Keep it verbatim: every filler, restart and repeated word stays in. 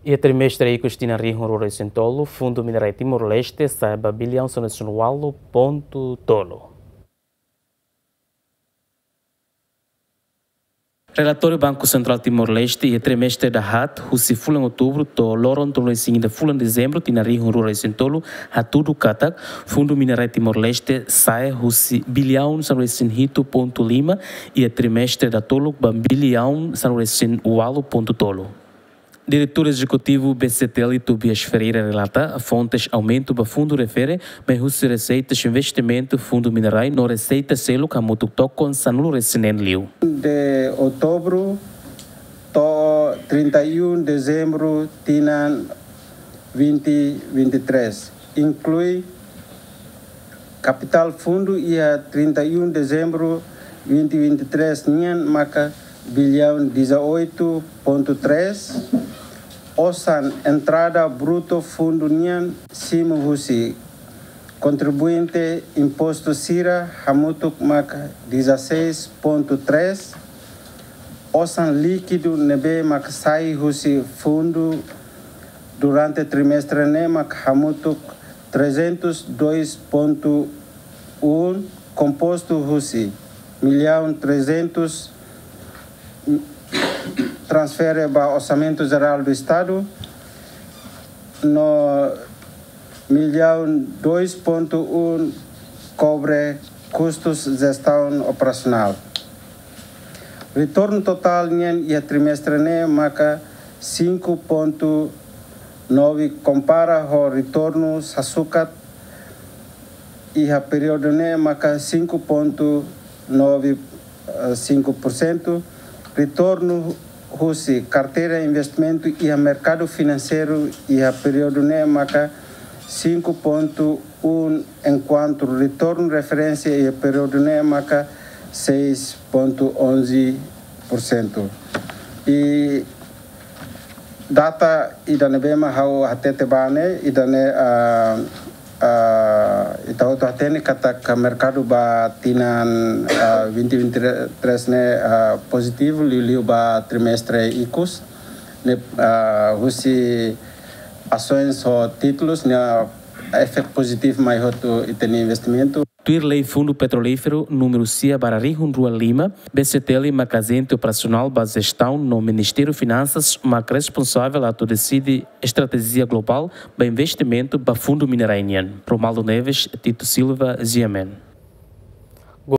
Iha trimestre ikus tinan rihun rua resin tolu, Fundu Minerai Timor-Leste sa'e ba biliaun sanulu resin ualu pontu tolu. Relatóriu Banku Sentrál Timor-Leste iha trimestre dahaat, husi fulan Outubru to'o loron tolu resin ida fulan Dezembru tinan rihun rua resin tolu, hatudu katak Fundu Minerai Timor-Leste sa'e husi biliaun sanulu resin hitu pontu lima iha trimestre datoluk ba biliaun sanulu resin ualu pontu tolu. Diretór Ezekutivu B C T L, Tobias Ferreira, relata fontes aumentu ba fundu refere mai husi reseitas investimentu, fundu minerai no reseita seluk hamutuk tokon sanulu resin neen liu. De Outubru to'o trinta e um Dezembru tinan vinte vinte e três, inklui kapitál fundu iha trinta e um Dezembru vinte vinte e três nian maka biliaun dezoito ponto três, osan entrada brutu fundu nian simu husi kontribuinte impostu sira hamutuk maka dezasseis ponto três, osan líkidu ne'ebé maka sai husi fundu durante trimestre ne'e maka hamutuk trezentos dois ponto um, kompostu husi miliaun trezentos transfere ba Orsamentu Jerál do Estadu, no miliaun dois ponto um kobre kustus jestaun operasionál. Retornu totál nian iha trimestre ne'e maka cinco ponto nove, kompara ho retornu sasukat iha períodu ne'e maka cinco ponto nove cinco por cento. Retornu husi karteira investimentu iha merkadu finanseiru iha períodu ne'e maka cinco ponto um, enkuantu retornu referénsia iha períodu ne'e maka seis ponto onze por cento. I data ida ne'ebé mak ha'u hatete ba ne'e, ida-ne'e, ah, ah, ita hotu hatene katak merkadu ba tinan, ah, vinte vinte e três ne'e, ah, pozitivu, liuliu ba trimestre ikus ne'e, ah, husi asoens ho títulus ne'e, ah, efeitu pozitivu mai hotu ita-nia investimentu. Tuir Lei Fundu Petrolíferu númeru sia barra rihun rua lima, B C T L maka ajente operasionál ba jestaun no Ministériu Finansas maka responsavel atu deside estratéjia globál ba investimentu ba fundu minerai nian. Romaldo Neves, Tito Silva, G M N.